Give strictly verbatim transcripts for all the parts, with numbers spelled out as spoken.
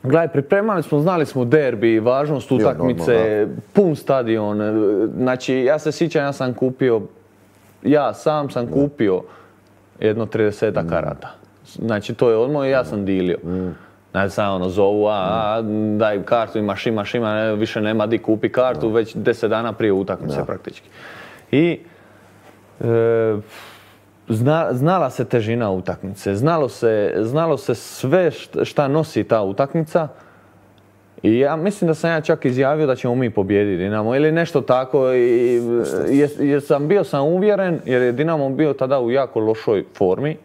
Gledaj, pripremali smo, znali smo derbi, važnost utakmice, pun stadion. Znači, ja se sjećam, ja sam kupio, ja sam sam kupio jedno tridesetak karata. Znači, to je odmah i ja sam dilio. Znači, sam ono zovu, a, daj kartu, imaš, imaš, ima, više nema di kupi kartu, već deset dana prije utakmice praktički. I znala se težina utakmice, znalo se sve šta nosi ta utakmica. I ja mislim da sam ja čak izjavio da ćemo mi pobijediti Dinamo ili nešto tako. Jer sam bio sam uvjeren, jer je Dinamo bio tada u jako lošoj formi.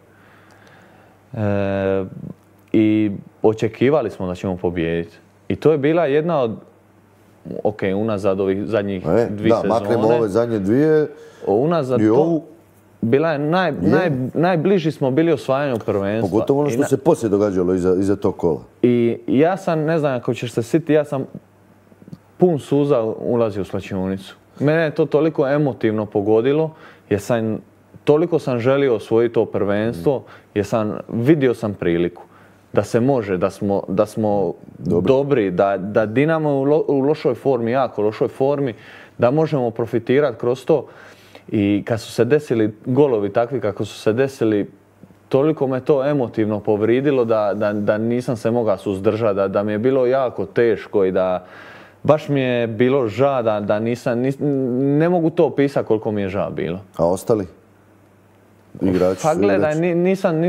I očekivali smo da ćemo pobijediti. I to je bila jedna od, ok, unazad ovih zadnjih dvije sezone. Da, maknemo ove zadnje dvije. Unazad to, bila je najbliži smo bili osvajanju prvenstva. Pogotovo ono što se poslije događalo iza tog kola. I ja sam, ne znam ako ćeš se sjetiti, ja sam pun suza ulazio u slačionicu. Mene je to toliko emotivno pogodilo, jer sam, toliko sam želio osvojiti to prvenstvo, jer sam, vidio sam priliku da se može, da smo, da smo dobri, da, da Dinamo je u lošoj formi, jako lošoj formi, da možemo profitirati kroz to. I kad su se desili golovi takvi kako su se desili, toliko me to emotivno povridilo da, da, da nisam se mogao suzdržati, da, da mi je bilo jako teško i da baš mi je bilo ža da, da nisam, nis, ne mogu to opisati koliko mi je ža bilo. A ostali? Igrači, pa gledaj, nisam,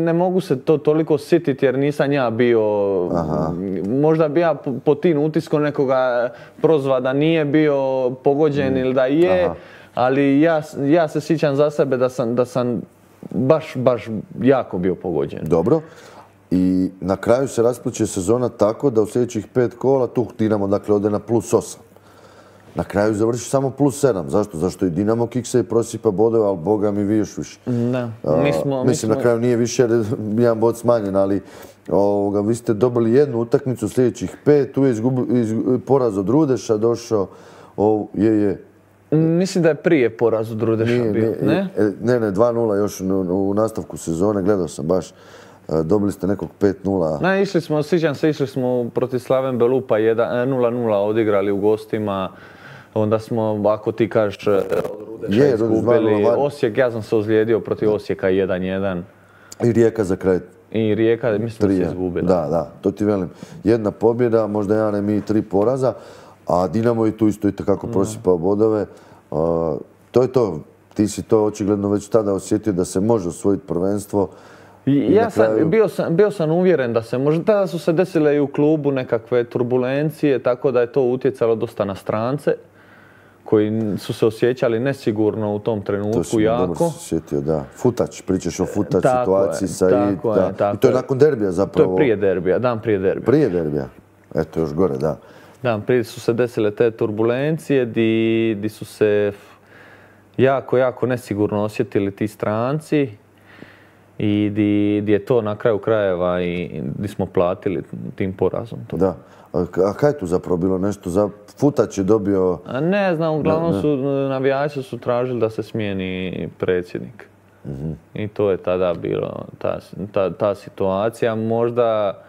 ne mogu se to toliko sititi jer nisam ja bio, aha, možda bi ja po tim utiskom nekoga prozva da nije bio pogođen mm. ili da je, aha, ali ja, ja se sjećam za sebe da sam, da sam baš, baš jako bio pogođen. Dobro. I na kraju se raspliče sezona tako da u sljedećih pet kola tu Dinamo dakle ode na plus osam. Na kraju završi samo plus sedam. Zašto? Zašto i Dinamo kiksa i prosipa bodove, ali boga mi vi još više. Da. Mi smo, Mislim, mi smo... na kraju nije više jer jedan bod smanjen, ali ovoga, vi ste dobili jednu utakmicu sljedećih pet, tu je izgubi, iz, poraz od Rudeša došao, o, je, je. Mislim da je prije poraz od Rudeša nije, bio, ne? Ne, ne, dva nula još u, u nastavku sezone, gledao sam baš. Dobili ste nekog pet nula. Ne, išli smo, sjećam se, išli smo protiv Slaven Belupa nula nula odigrali u gostima. Onda smo, ako ti kažeš, od Rudeša izgubili Osijek, ja sam se ozlijedio protiv Osijeka jedan jedan. I Rijeka za kraj. I Rijeka, mislim da se izgubila. Da, da, to ti velim. Jedna pobjeda, možda jedan remi i tri poraza, a Dinamo je tu isto i takako prosipao bodove. To je to. Ti si to očigledno već tada osjetio da se može osvojiti prvenstvo. Ja sam, kraju... bio, sam, bio sam uvjeren da se može. Tada su se desile i u klubu nekakve turbulencije, tako da je to utjecalo dosta na strance koji su se osjećali nesigurno u tom trenutku, to jako. To si dobro sjetio, da. Futač, pričaš o futač tako situaciji sa i... Tako je, tako I to je nakon derbija zapravo. To je prije derbija, dan prije derbija. Prije derbija. Eto, još gore, da. Dan prije su se desile te turbulencije di, di su se jako, jako nesigurno osjetili ti stranci. I di, di je to na kraju krajeva i di smo platili tim porazom. To. Da. A, a kaj je tu zapravo bilo nešto? Za Futač je dobio... A ne znam, uglavnom ne, ne. su navijači su tražili da se smijeni predsjednik. Mm-hmm. I to je tada bilo ta, ta, ta situacija. Možda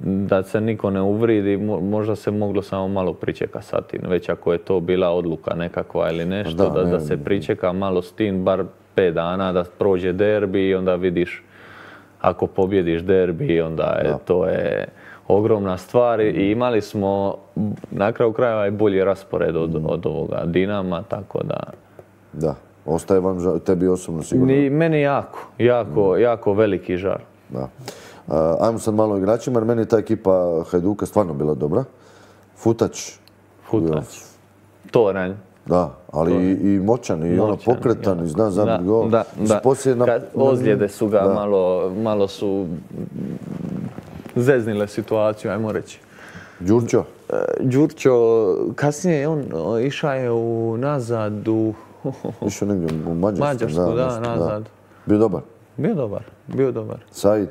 da se niko ne uvridi, možda se moglo samo malo pričeka sa tim. Već ako je to bila odluka nekakva ili nešto, da, da, da se pričeka malo s tim, bar pet dana da prođe derbi i onda vidiš ako pobjediš derbi onda je, da. To je ogromna stvar i imali smo na kraju krajeva i bolji raspored od, mm. od ovoga Dinama, tako da... Da, ostaje vam tebi osobno sigurno? Ni, meni jako, jako, mm. jako veliki žar. Da. Uh, ajmo sad malo igračima jer meni ta ekipa Hajduka stvarno bila dobra. Futač. Futač. Toranj. Da, ali i, i moćan, i moćan, ono pokretan, ja. I zna zabiti gol. Da, da. Na... Kad ozljede su ga, da. malo, malo su zeznile situaciju, ajmo reći. Đurđo? E, Đurđo, kasnije je on išao je u nazad u... Išao negdje u Mađarsku. Mađarsku, da, da, nazad. Da. Bio dobar? Bio dobar, bio dobar. Said?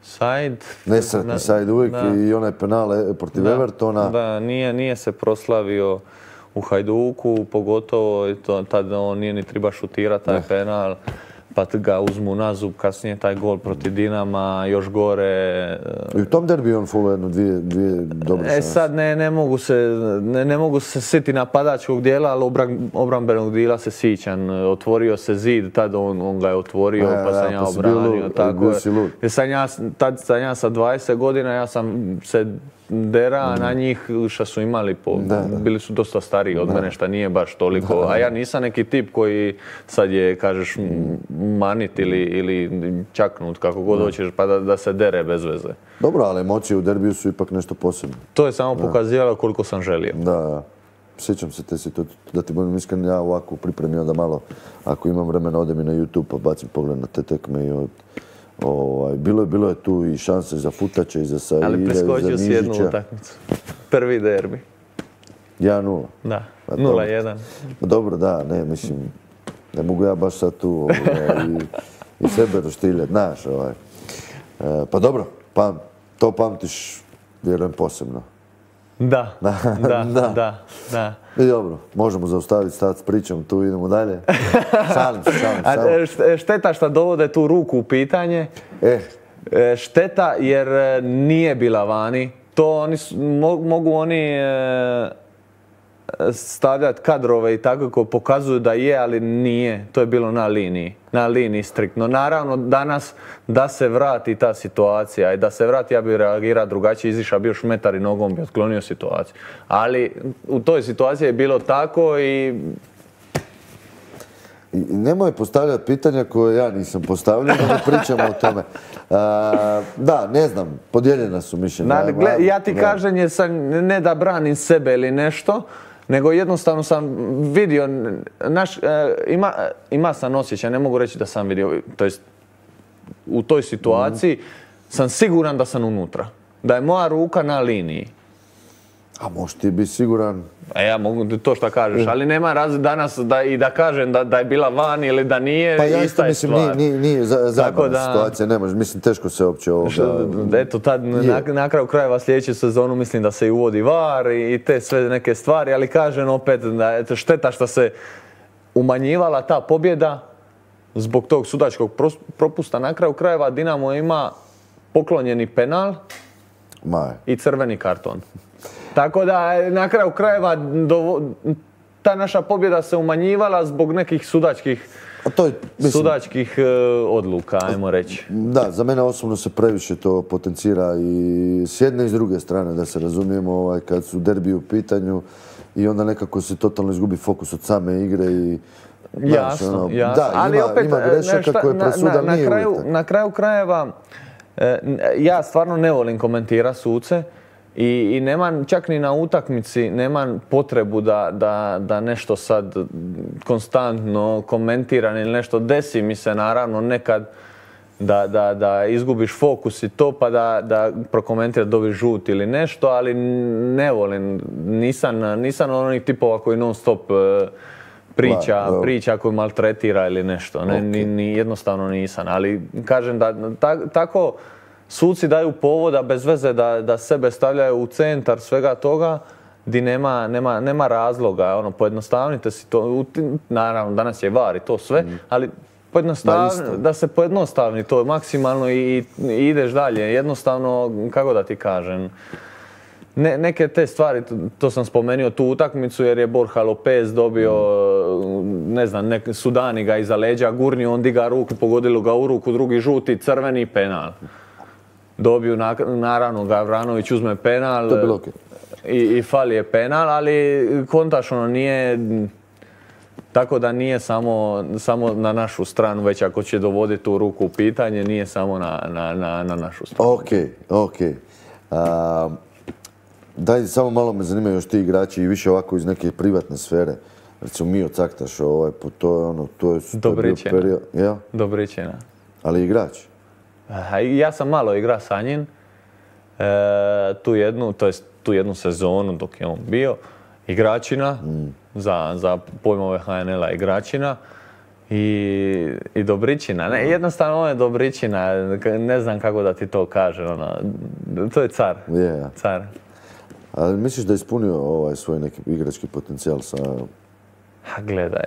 Said... Nesretni Said uvijek da. I onaj penal protiv da. Evertona. Da, nije, nije se proslavio u Hajduku, pogotovo to, tada on nije ni treba šutirati taj penal. pa ga uzmu na zub, kasnije taj gol protiv Dinama, još gore. I u tom derbiju on fulao jedno dvije, dvije dobre šanse. E sad ne, ne mogu se, ne, ne mogu se sjetiti napadačkog dijela, ali obran, obrambenog dijela se sićan. Otvorio se zid, tad on, on ga je otvorio, e, pa sam ja, ja obranio. Lud, tako je. Sam ja, tad sam ja sa dvadeset godina, ja sam se dera mm. na njih što su imali, po, da, da. bili su dosta stariji od da. mene, što nije baš toliko. Da, da. A ja nisam neki tip koji sad je, kažeš, manit ili, ili čaknut, kako god hoćeš, pa da, da se dere bez veze. Dobro, ali emocije u derbiju su ipak nešto posebno. To je samo pokazivalo koliko sam želio. Da, da. Sjećam se te situacije, da ti budem iskren, ja ovako pripremio da malo, ako imam vremena, odem i na YouTube pa bacim pogled na te tekme i od... Ovaj, bilo, je, bilo je tu i šanse za Futače i za Saide, ali preskočio si jednu utakmicu. Prvi derbi. jedan nula. Da, nula jedan. Dobro, da, ne, mislim, ne mogu ja baš sad tu ovaj, i, i sebe roštiljati, znaš. Ovaj. E, pa dobro, pa, to pamtiš, vjerujem, posebno. Da, da, da, da, da. I dobro, možemo zaustaviti stati s pričom, tu idemo dalje. Šalim se, šalim se. Šteta što dovode tu ruku u pitanje. Eh. Šteta jer nije bila vani. To oni, mogu oni stavljati kadrove i tako koji pokazuju da je, ali nije. To je bilo na liniji. Na liniji striktno. Naravno, danas da se vrati ta situacija i da se vrati, ja bih reagirao drugačije, izišao bi još metar i nogom bi otklonio situaciju. Ali u toj situaciji je bilo tako i... I nemoj postavljati pitanja koje ja nisam postavljao, da ne pričamo o tome. A, da, ne znam, podijeljena su mišljenja. Ja ti kažem, jer sam, ne da branim sebe ili nešto, nego jednostavno sam vidio, naš, ima, ima sam osjećaj, ne mogu reći da sam vidio, to jest u toj situaciji mm. sam siguran da sam unutra, da je moja ruka na liniji. A možeš ti biti siguran? A ja mogu to što kažeš, ali nema razlike danas da, i da kažem da, da je bila van ili da nije, pa ja ista je mislim, stvar. Nije, nije zabavna da, situacija, ne može, mislim teško se uopće ovoga... Eto, tad na, na kraju krajeva sljedeću sezonu mislim da se i uvodi var i te sve neke stvari, ali kažem opet da je šteta što se umanjivala ta pobjeda zbog tog sudačkog propusta. Na kraju krajeva Dinamo ima poklonjeni penal Maj. i crveni karton. Tako da na kraju krajeva do, ta naša pobjeda se umanjivala zbog nekih sudačkih, to je, mislim, sudačkih uh, odluka, ajmo reći. Da, za mene osobno se previše to potencira i s jedne i s druge strane, da se razumijemo, ovaj, kad su derbi u pitanju i onda nekako se totalno izgubi fokus od same igre i... Jasno, ono, jasno. Da, ali ima, opet, ima grešaka koje presuda na, na, nije na kraju, uvjetan. Na kraju krajeva, eh, ja stvarno ne volim komentirati suce. I, i nemam čak ni na utakmici, nemam potrebu da, da, da nešto sad konstantno komentiram ili nešto. Desi mi se naravno nekad da, da, da izgubiš fokus i to pa da, da prokomentiraš dobiš žut ili nešto, ali ne volim, nisam, nisam onih tipova koji non stop priča, wow, wow. priča koji maltretira ili nešto. Ne, okay. ni, ni, jednostavno nisam, ali kažem da ta, tako suci daju povoda bez veze da, da sebe stavljaju u centar svega toga di nema, nema, nema razloga. Ono, pojednostavnite si to. Naravno, danas je var i to sve, mm. ali pojednostavni, da se pojednostavni to maksimalno i, i ideš dalje. Jednostavno, kako da ti kažem, ne, neke te stvari, to sam spomenuo tu utakmicu jer je Borja Lopez dobio, mm. ne znam, nek, Sudani ga iza leđa gurnio, on diga ruku, pogodilo ga u ruku, drugi žuti, crveni penal. Dobiju, naravno, Gavranović uzme penal okay. i, i fali je penal, ali kontaš ono nije, tako da nije samo, samo na našu stranu, već ako će dovoditi tu ruku u pitanje, nije samo na, na, na, na našu stranu. Ok, ok. A, daj, samo malo me zanimaju još ti igrači i više ovako iz neke privatne sfere. Recimo Mio Caktaš, ovaj, to je ono, to je... Dobričina. Period, ja? Dobričina. Ali igrač? Ja sam malo igrao sa njim, e, tu, jednu, to jest, tu jednu sezonu dok je on bio, igračina, mm. za, za pojmove H N L-a igračina i, i Dobričina. Ne, jednostavno on je Dobričina, ne znam kako da ti to kažem, ono, to je car. Yeah. car. Ali misliš da je ispunio ovaj svoj neki igrački potencijal sa Ha, gledaj,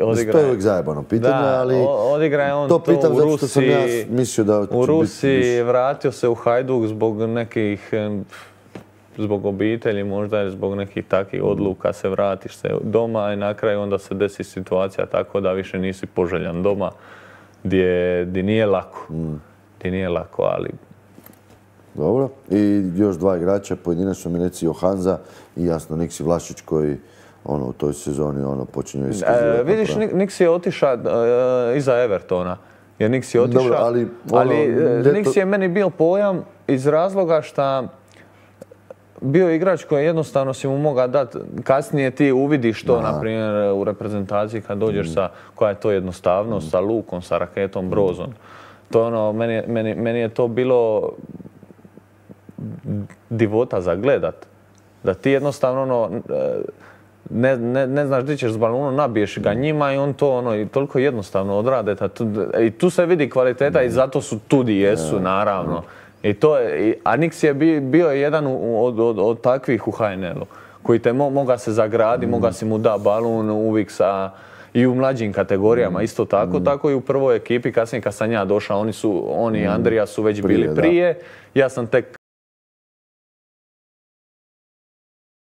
odigra... To je uvijek zajebano pitanje, da, ali... odigra je on to, to pitam u zato što sam ja Rusiji, mislio da će u Rusiji biti... vratio se u Hajduk zbog nekih, zbog obitelji možda, ili zbog nekih takvih odluka, se vratiš se doma i na kraju onda se desi situacija tako da više nisi poželjan doma, gdje, gdje nije lako, mm. gdje nije lako, ali... Dobro, i još dva igrača, pojedinačno mi reci Johanza i jasno Niksi Vlašić koji ono, u toj sezoni ono, počinju iskazivati. E, vidiš, Niksi je otišao e, iza Evertona. Jer Niksi je otišao, Dobro, ali, ono, ali ljeto... Niksi je meni bio pojam iz razloga što bio igrač koji jednostavno si mu mogao dati, kasnije ti uvidiš to, na primjer, u reprezentaciji kad dođeš mm. sa, koja je to jednostavnost, mm. sa Lukom, sa Raketom, Brozom. To ono, meni, meni, meni je to bilo divota za gledat. Da ti jednostavno ono, ne, ne, ne znaš gdje ćeš s balonom, nabiješ ga njima i on to ono, i toliko jednostavno odrade. Tu, i tu se vidi kvaliteta i zato su tu di jesu, naravno. I to je, a Niksi je bio, bio jedan od, od, od takvih u H N L-u, koji te mo, moga se zagradi, mm. moga si mu da balun uvijek sa, i u mlađim kategorijama, mm. isto tako, mm. tako i u prvoj ekipi, kasnije kad sam ja došao, oni su, oni i Andrija su već prije, bili prije, da. Ja sam tek